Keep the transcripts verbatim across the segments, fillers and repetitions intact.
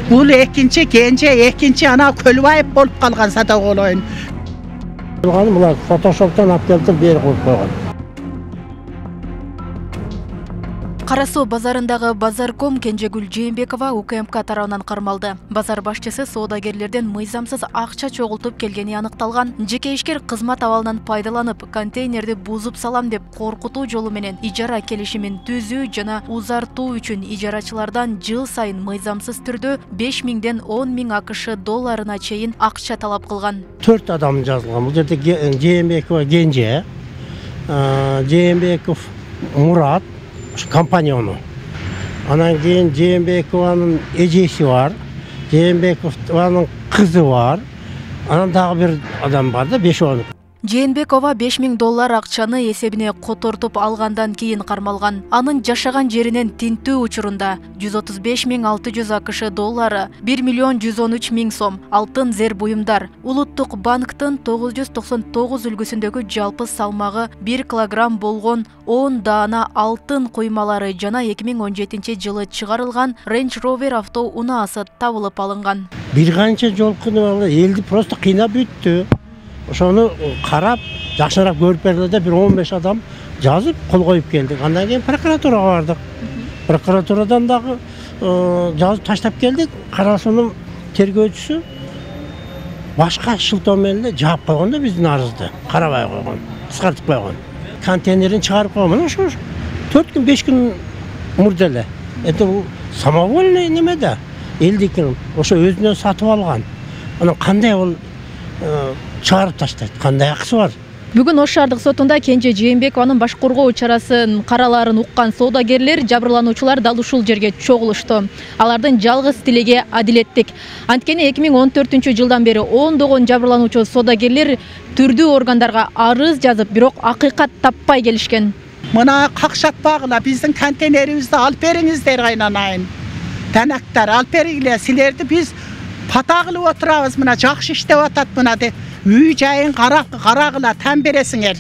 Бул экинчи кенже, экинчи ана Көлбаев болуп калган сатып алайын. Булар фотошоптон алып келип берип коюп койгон. Кара Соо базарындагы Базарком Кенжегүл Жээнбекова У К М К тарабынан кармалды. Базар башчысы соодагерлерден мыйзамсыз акча чогултуп келгени аныкталган. Жеке ишкер кызмат абалынан пайдаланып, контейнерди бузуп салам деп коркутуу жолу менен ижара келишимин түзүү жана узартуу үчүн ижарачылардан жыл сайын мыйзамсыз түрдө беш миңден он миң А К Ш долларына чейин акча талап кылган. төрт адам жазылган. Бул жерде Жээнбекова Кенже, Жээнбеков Мурат, компаньону. Анан кийин Жээнбекованын эжеси бар, Жээнбекованын кызы бар. Анан дагы бир адам бар да, беш он. Жээнбекова беш миң доллар акчаны эсебине котортуп алгандан кийин кармалган. Анын жашаган жеринен тинтүү учурунда жүз отуз беш миң алты жүз А К Ш доллары, бир миллион жүз он үч миң сом алтын зер буюмдар, Улуттук банктын тогуз жүз токсон тогуз үлгүсүндөгү жалпы салмагы бир килограмм болгон он даана алтын куймалары жана эки миң он жетинчи жылы чыгарылган Range Rover авто унаасы табылып алынган. Бир канча жолкуну элди просто кыйнап бүттү. Ошону карап, жакшыраак көрүп берди да, бир он беш адам жазып кол коюп келдик. Андан кийин прокуратурага бардык. Прокуратурадан дагы жазып таштап келдик. Карасунун тергөөчүсү башка шылтоо менен эле жаап койгон да биздин арызды. Карабай койгон, кыскартып койгон. Контейнерин чыгарып койгон. Ошо төрт күн, беш күн мурда эле. Это бул самовольный неме да. Элдикин ошо өзүнөн сатып алган. Анан кандай бул чыгарып таштайт, кандай акысы бар? Бүгүн Ош шаардык сотунда Кенже Жээнбекованын баш коргоо чарасын каралаарын уккан соодагерлер, жабырлануучулар дал ушул жерге чогулушту. Алардын жалгыз тилеги адилеттик. Анткени эки миң он төртүнчү жылдан бери ондогон жабырлануучу соодагерлер түрдүү органдарга арыз жазып, бирок акыйкат таппай келишкен. Мына какшатпагыла, биздин контейнерибизди алып бериңиздер кайнанайын. Танактар алып бергиле, силерди биз пата кылып отурабыз, мына жакшы иштеп атат мына деп. Үй жайын карагыла, тан бересиңер.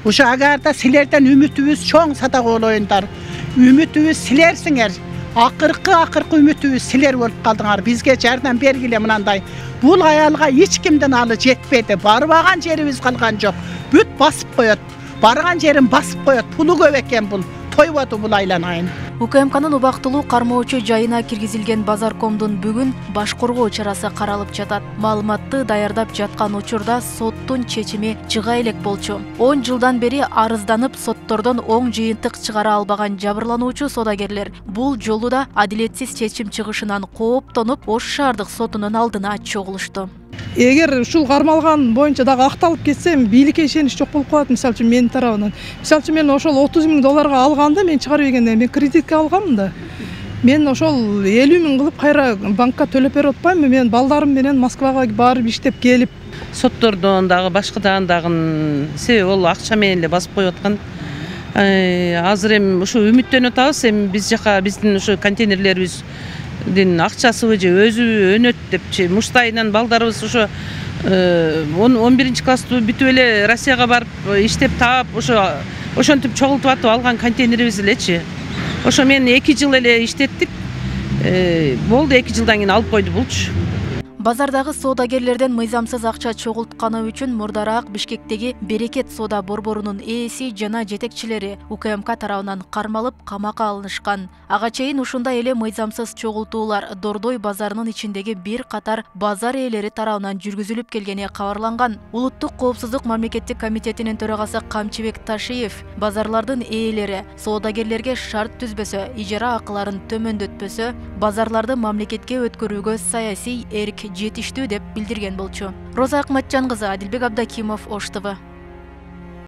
Ошо агарда силерден үмүтүбүз чоң сатак олоюндар. Үмүтүбүз силерсиңер. Акыркы акыркы үмүтүбүз силер болуп калдыңар. Бизге жардам бергиле мынандай. Бул аялга эч кимдин алы жетпеди. Барбаган жерибиз калган жок. Бүт басып коет. Барган жерин басып коет. Пулу көп экен бул. Тойбоду бул айланайын. У К М К'нын убактылуу кармоочу жайына киргизилген Базаркомдун бүгүн баш коргоо чарасы каралып жатат. Маалыматты даярдап жаткан учурда соттун чечими чыга элек болчу. он жылдан бери арызданып, соттордон оң жыйынтык чыгара албаган жабырлануучу соодагерлер бул жолу да адилетсиз чечим чыгышынан кооптонуп, Ош шаардык сотунун алдына чогулушту. Эгер ушул кармалган боюнча дагы акталып кетсе, бийликке ишенич жок болуп калат. Мисалы үчүн менин тарабынан. Мисалы үчүн мен ошол отуз миң долларга алганда, мен чыгарып ийгенде мен кредитке алганмын да. Мен ошол элүү миң кылып кайра банкка төлөп берип атпаймынбы? Мен балдарым менен Москвага барып иштеп келип, соттордон дагы башкадан дагы себеби ол акча менен эле басып коюп аткан. Азыр эми ушу үмүттөнүп атабыз, эми биз жака биздин ушу контейнерлерибиз дин акчасыбы же өзү өнөт депчи муштайынан балдарыбыз ошо он биринчи класстуу бүтүп эле Россияга барып иштеп таап ошо ошентип чогултуп атып алган контейнерибиз элечи. Ошо мен эки жыл эле иштеттик. Болду, эки жылдан кийин алып койду булчу. Базардагы соодагерлерден мыйзамсыз акча чогултканы үчүн мурдараак Бишкектеги Берекет соода борборунун ээси жана жетекчилери У К М К тарабынан кармалып, камакка алынышкан. Ага чейин ушундай эле мыйзамсыз чогултуулар Дордой базарынын ичиндеги бир катар базар ээлери тарабынан жүргүзүлүп келгени кабарланган. Улуттук коопсуздук мамлекеттик комитетинин төрагасы Камчыбек Ташиев базарлардын ээлери соодагерлерге шарт түзбөсө, ижара акыларын төмөндөтпөсө, базарларды мамлекетке өткөрүүгө саясий эрк жетиштүү деп билдирген болчу. Роза Акматжан кызы, Адилбек Абдакимов, Ош Т В.